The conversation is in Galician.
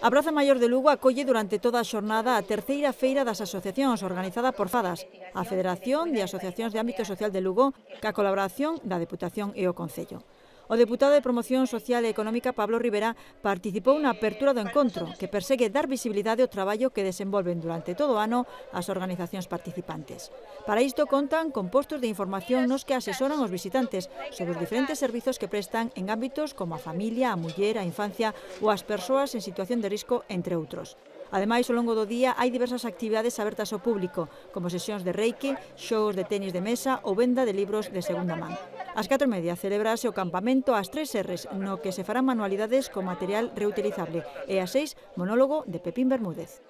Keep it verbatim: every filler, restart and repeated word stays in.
A Praza Maior de Lugo acolle durante toda a xornada a terceira feira das asociacións organizada por FADAS, a Federación de Asociacións de Ámbito Social de Lugo, ca colaboración da Deputación e o Concello. O deputado de Promoción Social e Económica, Pablo Rivera, participou na apertura do encontro, que persegue dar visibilidade ao traballo que desenvolven durante todo o ano as organizacións participantes. Para isto contan con postos de información nos que asesoran os visitantes sobre os diferentes servizos que prestan en ámbitos como a familia, a muller, a infancia ou as persoas en situación de risco, entre outros. Ademais, ao longo do día hai diversas actividades abertas ao público, como sesións de reiki, xogos de tenis de mesa ou venda de libros de segunda man. Ás catro e media celebrase o campamento ás tres erres, no que se farán manualidades con material reutilizable, e ás seis, monólogo de Pepín Bermúdez.